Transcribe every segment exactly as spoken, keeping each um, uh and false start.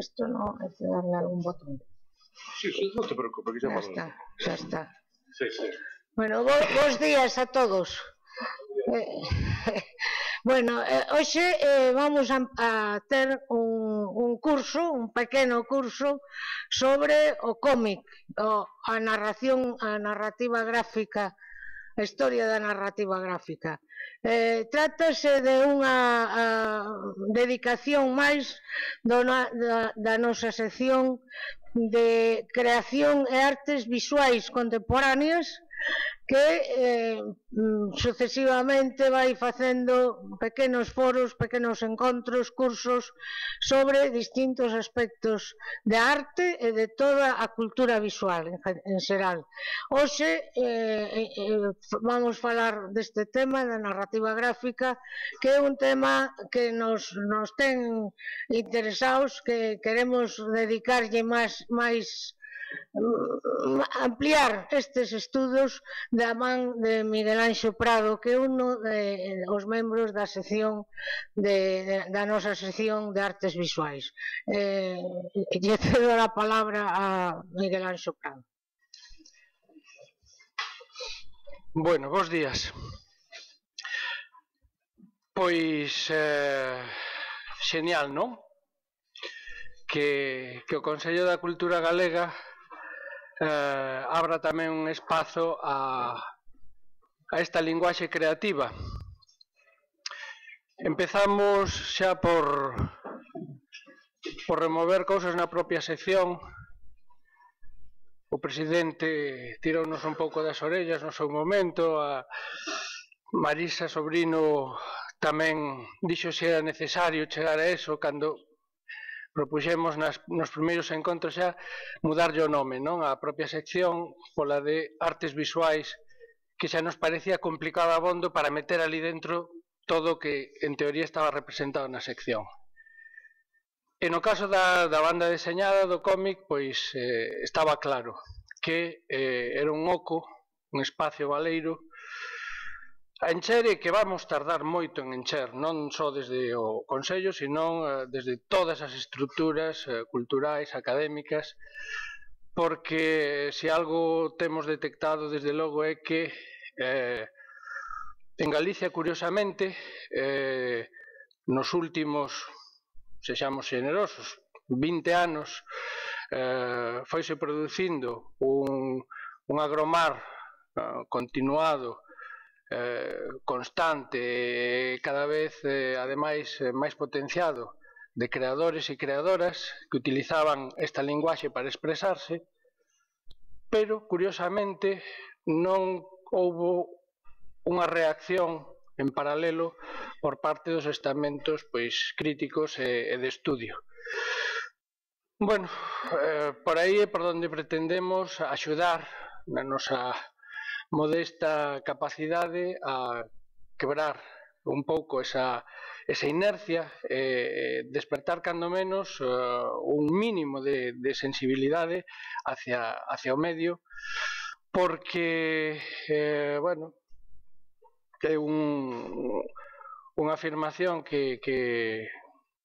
Esto no, hay que darle algún botón. Sí, sí, no te preocupes, que Ya ya vamos. está, xa está. Sí, sí. Bueno, bo, bons días a todos. Eh, bueno, eh, hoxe eh, vamos a, a ter un, un curso, un pequeno curso sobre o cómic, o, a narración, a narrativa gráfica, a historia da narrativa gráfica. Eh, trátase de unha a, dedicación máis do, na, da, da nosa sección de creación e artes visuais contemporáneas que eh, sucesivamente vai facendo pequenos foros, pequenos encontros, cursos sobre distintos aspectos da arte e de toda a cultura visual en, en xeral. Hoxe eh, eh, vamos falar deste tema da narrativa gráfica, que é un tema que nos, nos ten interesados, que queremos dedicarlle máis, máis ampliar estes estudos da man de Miguel Anxo Prado, que é un dos membros da sección de, de, da nosa sección de artes visuais. Eh, lle cedo a palabra a Miguel Anxo Prado. Bueno, bons días. Pois eh, xenial, non? Que, que o Consello da Cultura Galega eh, abra tamén un espazo a, a esta linguaxe creativa. Empezamos xa por, por remover cousas na propia sección. O presidente tirounos un pouco das orellas no seu momento, a Marisa Sobrino tamén dixo se era necesario chegar a eso cando propuxemos nas, nos primeiros encontros xa mudarlle o nome, non? A propia sección pola de artes visuais, que xa nos parecía complicado abondo para meter ali dentro todo o que en teoría estaba representado na sección. E no caso da, da banda deseñada do cómic, pois eh, estaba claro que eh, era un oco, un espacio baleiro a encher e que vamos tardar moito en encher, non só desde o Consello, senón eh, desde todas as estruturas eh, culturais, académicas, porque se algo temos detectado desde logo é que eh, en Galicia, curiosamente, eh, nos últimos, sexamos generosos, vinte anos, eh, foise producindo un, un agromar eh, continuado, Eh, constante, cada vez eh, ademais eh, máis potenciado de creadores e creadoras que utilizaban esta linguaxe para expresarse, pero curiosamente non houbo unha reacción en paralelo por parte dos estamentos pois críticos e, e de estudio. Bueno, eh, por aí é por onde pretendemos axudar na nosa modesta capacidade a quebrar un pouco esa, esa inercia e eh, despertar cando menos uh, un mínimo de, de sensibilidade hacia, hacia o medio, porque, eh, bueno, é un, unha afirmación que, que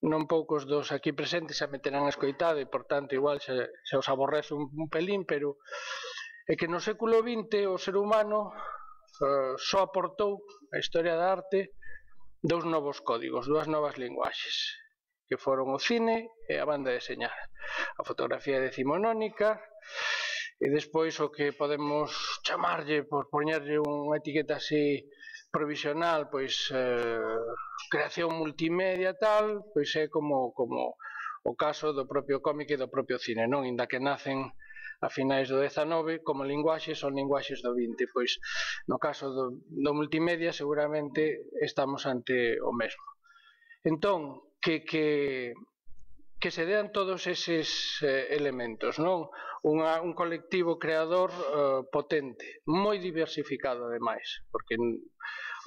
non poucos dos aquí presentes se meterán a escoitado e, por tanto, igual se, se os aborrece un, un pelín, pero é que no século vinte o ser humano uh, só aportou a historia da arte dous novos códigos, dúas novas linguaxes, que foron o cine e a banda deseñada. A fotografía decimonónica e despois o que podemos chamarlle, por poñerlle unha etiqueta así provisional, pois eh, creación multimedia tal, pois é como, como o caso do propio cómic e do propio cine, non? Inda que nacen a finais do dezanove, como linguaxes son linguaxes do vinte, pois no caso do, do multimedia seguramente estamos ante o mesmo. Entón, que, que, que se dean todos eses eh, elementos, non? Unha, un colectivo creador eh, potente, moi diversificado ademais, porque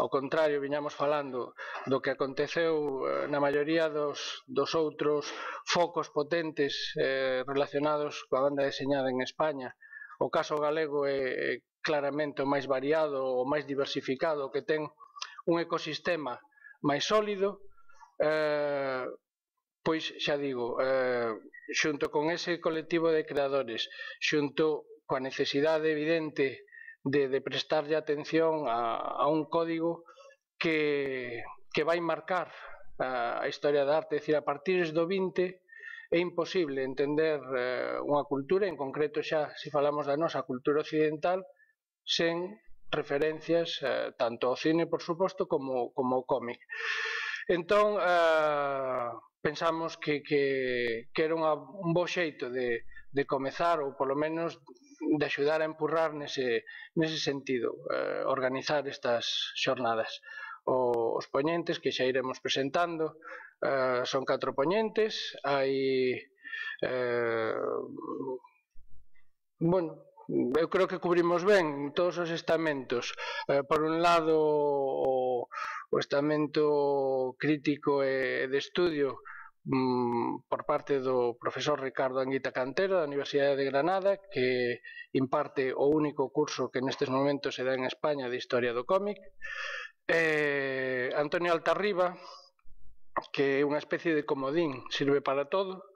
ao contrario, viñamos falando do que aconteceu eh, na maioría dos, dos outros focos potentes eh, relacionados coa banda deseñada en España. O caso galego é claramente o máis variado, o máis diversificado, que ten un ecosistema máis sólido, eh, pois xa digo, eh, xunto con ese colectivo de creadores, xunto coa necesidade evidente de, de prestarlle atención a, a un código que, que vai marcar a, a historia da arte, é dicir, a partir do vinte é imposible entender eh, unha cultura, en concreto xa se falamos da nosa cultura occidental, sen referencias eh, tanto ao cine, por suposto, como, como ao cómic. Entón, eh, pensamos que, que, que era unha, un bo xeito de, de comezar, ou polo menos de axudar a empurrar nese, nese sentido, eh, organizar estas xornadas. O, os poñentes que xa iremos presentando eh, son catro poñentes, hai eh, bueno, eu creo que cubrimos ben todos os estamentos. Eh, por un lado, o, o estamento crítico e de estudio mm, por parte do profesor Ricardo Anguita Cantero da Universidade de Granada, que imparte o único curso que nestes momentos se dá en España de Historia do cómic. Eh, Antonio Altarriba, que é unha especie de comodín, sirve para todo,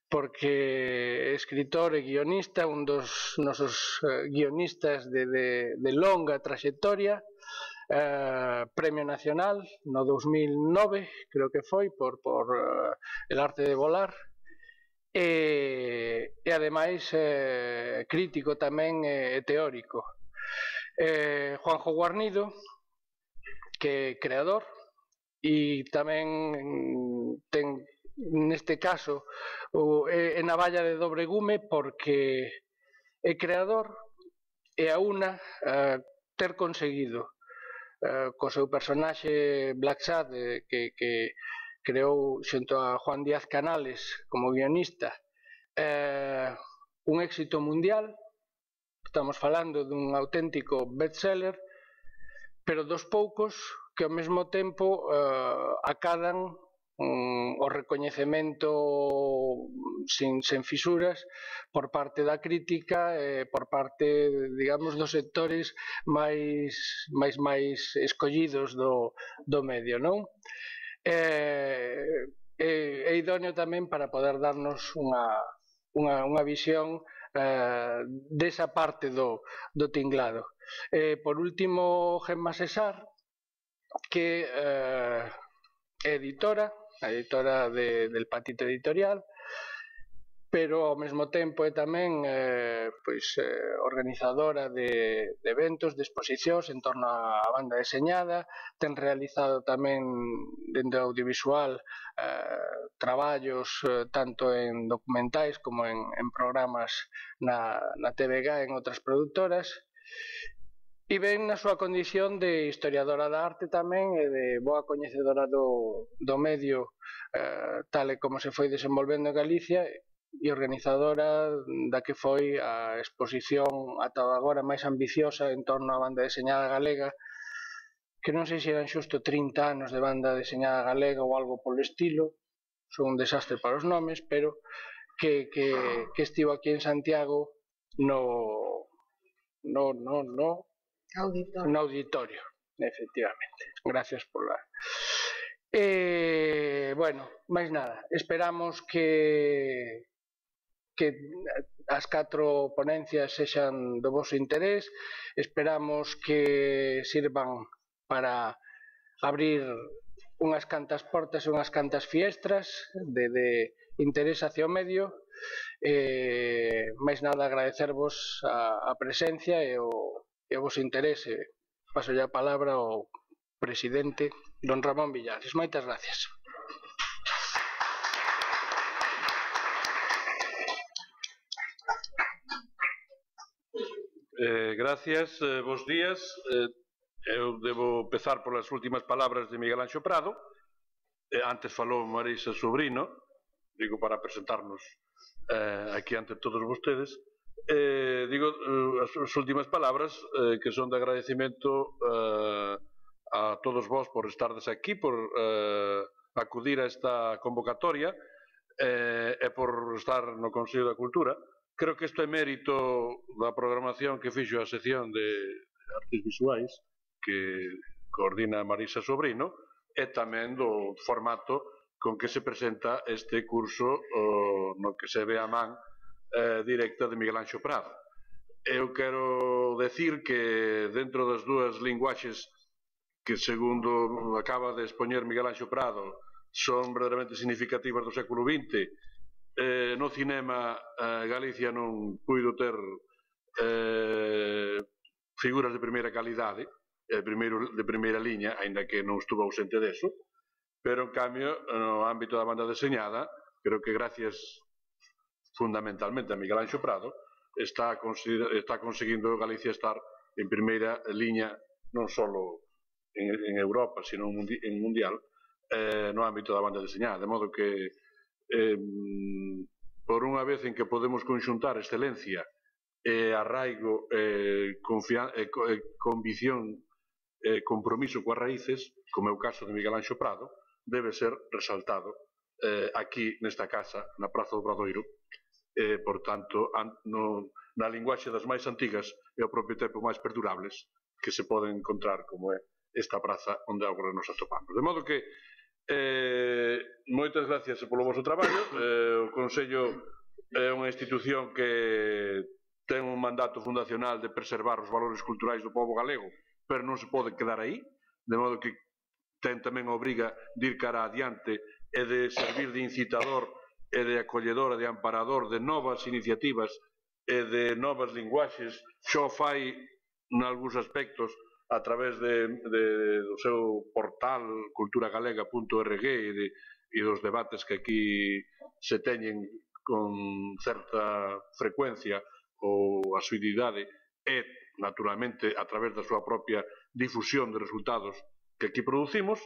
porque é escritor e guionista, un dos nosos eh, guionistas de, de, de longa traxectoria, eh, Premio Nacional no dos mil nove, creo que foi, por, por eh, El arte de volar, e, e ademais eh, crítico tamén e eh, teórico. Eh, Juanjo Guarnido, que é creador, e tamén ten neste caso o, é, é navalla de dobre gume porque é creador e a una uh, ter conseguido uh, co seu personaxe Black Sad eh, que, que creou xunto a Juan Díaz Canales como guionista eh, un éxito mundial. Estamos falando dun auténtico bestseller, pero dos poucos que ao mesmo tempo uh, acadan um, o recoñecemento sin, sen fisuras por parte da crítica e por parte, digamos, dos sectores máis, máis, máis escollidos do, do medio, non? É, é, é idóneo tamén para poder darnos unha, unha, unha visión eh, desa parte do, do tinglado. Eh, por último, Gemma Cesar, que eh, é editora, a editora de, del Patito Editorial, pero ao mesmo tempo é tamén eh, pois, eh, organizadora de, de eventos, de exposicións en torno á banda deseñada, ten realizado tamén dentro do audiovisual eh, traballos eh, tanto en documentais como en, en programas na, na T V G en outras productoras, e ven na súa condición de historiadora da arte tamén e de boa coñecedora do, do medio eh, tal e como se foi desenvolvendo en Galicia e organizadora da que foi a exposición ata agora máis ambiciosa en torno á banda deseñada galega, que non sei se eran xusto trinta anos de banda deseñada galega ou algo polo estilo, son un desastre para os nomes, pero que, que, que estivo aquí en Santiago no, no, no, no Auditorio. No auditorio, efectivamente. Gracias por la... Eh, bueno, máis nada. Esperamos que que as catro ponencias sexan do vosso interés. Esperamos que sirvan para abrir unhas cantas portas e unhas cantas fiestras de, de interés hacia o medio. Eh, máis nada, agradecervos a, a presencia e o e o vosso interese. Paso a palabra ao presidente don Ramón Villares. Moitas gracias. Eh, gracias, eh, bons días. Eh, eu debo empezar polas últimas palabras de Miguel Anxo Prado. Eh, antes falou Marisa Sobrino, digo para presentarnos eh, aquí ante todos vostedes. Eh, digo eh, as, as últimas palabras eh, que son de agradecimento eh, a todos vós por estardes aquí, por eh, acudir a esta convocatoria eh, e por estar no Consello da Cultura. Creo que isto é mérito da programación que fixo a sección de artes visuais que coordina Marisa Sobrino e tamén do formato con que se presenta este curso no que se ve a man directa de Miguel Anxo Prado. Eu quero decir que dentro das dúas linguaxes que, segundo acaba de expoñer Miguel Anxo Prado, son verdadeiramente significativas do século vinte, eh, no cinema eh, Galicia non puido ter eh, figuras de primeira calidade, eh, primeiro, de primeira liña, aínda que non estuvo ausente deso, pero en cambio, no ámbito da banda deseñada, creo que gracias fundamentalmente a Miguel Anxo Prado, está, está conseguindo Galicia estar en primeira liña non só en, en Europa, sino en mundial, eh, no ámbito da banda deseñada, de modo que eh, por unha vez en que podemos conxuntar excelencia e arraigo, eh, eh, convicción e eh, compromiso coas raíces, como é o caso de Miguel Anxo Prado, debe ser resaltado eh, aquí nesta casa, na Praza do Obradoiro, eh, por tanto, no, na linguaxe das máis antigas e ao propio tempo máis perdurables que se poden encontrar como é esta praza onde agora nos atopamos. De modo que, eh, moitas gracias polo vosso traballo. Eh, o Consello é unha institución que ten un mandato fundacional de preservar os valores culturais do pobo galego, pero non se pode quedar aí, de modo que ten tamén a obriga de ir cara adiante e de servir de incitador e de acolledor e de amparador de novas iniciativas e de novas linguaxes. Xo fai nalgúns aspectos a través de, de, do seu portal cultura galega punto org e, de, e dos debates que aquí se teñen con certa frecuencia ou asiduidade e, naturalmente, a través da súa propia difusión de resultados que aquí producimos.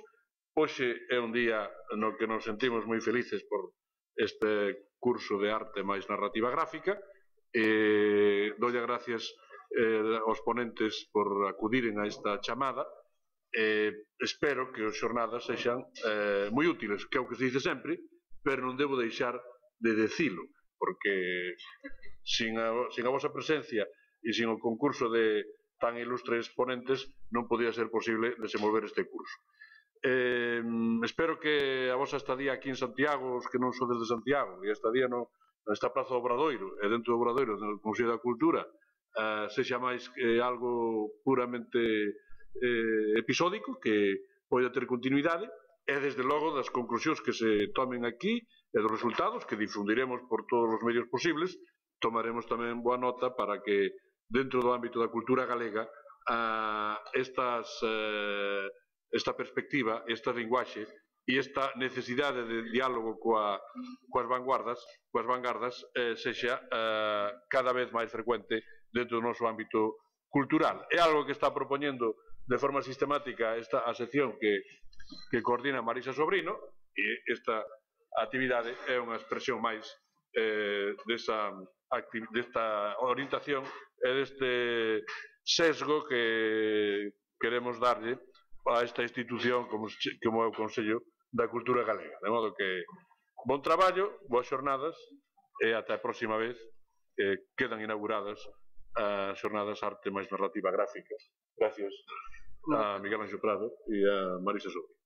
Hoxe é un día no que nos sentimos moi felices por este curso de arte máis narrativa gráfica. Eh, dolle gracias eh, aos ponentes por acudiren a esta chamada. Eh, espero que as xornadas sexan eh, moi útiles, que é o que se dice sempre, pero non debo deixar de decilo, porque sin a, sin a vosa presencia e sin o concurso de tan ilustres ponentes non podía ser posible desenvolver este curso. Eh, espero que a vosa estadía aquí en Santiago, os que non sodes de Santiago, e a estadía no, nesta Praza do Obradoiro e dentro do Obradoiro no Consello da Cultura eh, sexa máis que algo puramente eh, episódico, que poida ter continuidade, e desde logo das conclusións que se tomen aquí e dos resultados que difundiremos por todos os medios posibles, tomaremos tamén boa nota para que dentro do ámbito da cultura galega a, estas eh, esta perspectiva, esta linguaxe e esta necesidade de diálogo coa, coas vanguardas, coas vanguardas eh, sexa eh, cada vez máis frecuente dentro do noso ámbito cultural. É algo que está propoñendo de forma sistemática esta a sección que, que coordina Marisa Sobrino, e esta actividade é unha expresión máis eh, desa, desta orientación e deste sesgo que queremos darlle a esta institución como, como é o Consello da Cultura Galega. De modo que, bon traballo, boas xornadas e ata a próxima vez eh, quedan inauguradas as xornadas Arte máis Narrativa Gráfica. Gracias a Miguel Anxo Prado e a Marisa Sobrino.